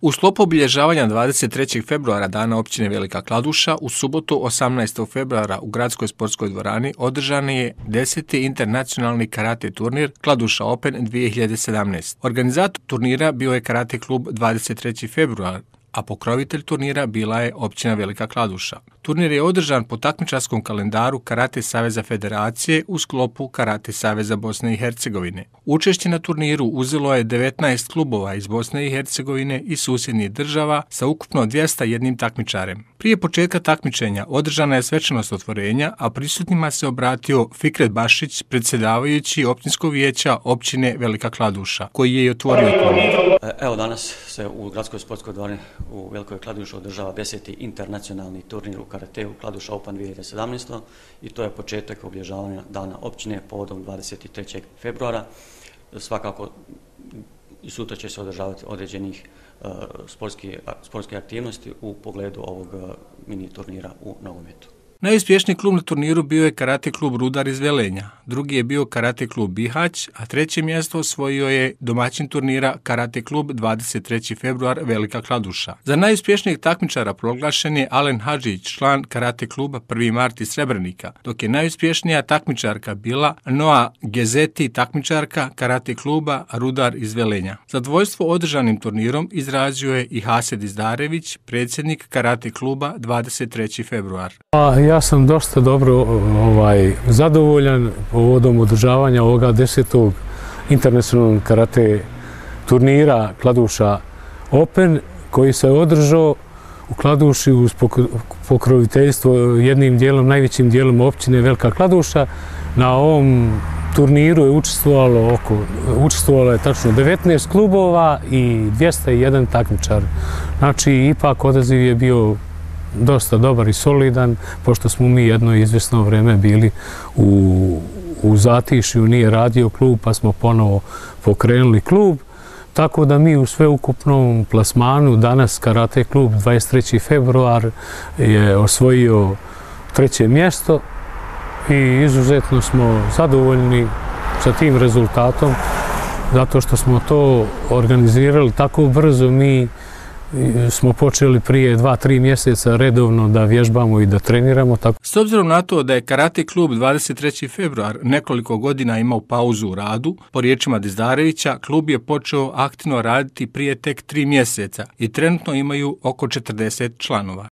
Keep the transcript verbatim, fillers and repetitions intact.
U sklopu obilježavanja dvadeset trećeg februara Dana općine Velika Kladuša, u subotu osamnaestog februara u gradskoj sportskoj dvorani održan je deseti internacionalni karate turnir Kladuša Open dvije hiljade sedamnaeste. Organizator turnira bio je karate klub dvadeset treći februar, a pokrovitelj turnira bila je općina Velika Kladuša. Turnir je održan po takmičarskom kalendaru Karate Saveza Federacije u sklopu Karate Saveza Bosne i Hercegovine. Učešće na turniru uzelo je devetnaest klubova iz Bosne i Hercegovine i susjednih država sa ukupno dvjesto jedan takmičarem. Prije početka takmičenja održana je svečanost otvorenja, a prisutnima se obratio Fikret Bašić, predsjedavajući općinskog vijeća općine Velika Kladuša, koji je i otvorio turnir. Evo, danas se u gradskoj sportskoj dvorani u Velikoj Kladuši održava deseti internacionalni turnir u karateu Kladuša Open dvije hiljade sedamnaeste. i to je početak obilježavanja Dana općine povodom dvadeset trećeg februara. Svakako i sutra će se održavati određenih uh, sportskih, sportske aktivnosti u pogledu ovog uh, mini turnira u nogometu. Najuspješniji klub na turniru bio je karate klub Rudar iz Velenja, drugi je bio karate klub Bihać, a treće mjesto osvojio je domaćin turnira karate klub dvadeset treći februar Velika Kladuša. Za najuspješnijeg takmičara proglašen je Alen Hadžić, član karate kluba prvi mart iz Srebrenika, dok je najuspješnija takmičarka bila Noa Gezeti, takmičarka karate kluba Rudar iz Velenja. Zadovoljstvo održanim turnirom izrazio je i Hased Izdarević, predsjednik karate kluba dvadeset treći februar. Ja sam dosta dobro ovaj, zadovoljan povodom održavanja ovoga desetog internacionalnog karate turnira Kladuša Open, koji se održao u Kladuši uz pokroviteljstvo jednim dijelom, najvećim dijelom općine Velika Kladuša. Na ovom turniru je učestvovalo oko, učestvovalo je tačno devetnaest klubova i dvjesto jedan takmičar. Znači, ipak odaziv je bio dosta dobar i solidan, pošto smo mi jedno izvjesno vrijeme bili u, u zatišju, nije radio klub, pa smo ponovo pokrenuli klub. Tako da mi u sveukupnom plasmanu danas karate klub dvadeset treći februar je osvojio treće mjesto i izuzetno smo zadovoljni sa tim rezultatom, zato što smo to organizirali tako brzo. Mi smo počeli prije dva, tri mjeseca redovno da vježbamo i da treniramo. Tako. S obzirom na to da je karate klub dvadeset treći februar nekoliko godina imao pauzu u radu, po riječima Dizdarevića, klub je počeo aktivno raditi prije tek tri mjeseca i trenutno imaju oko četrdeset članova.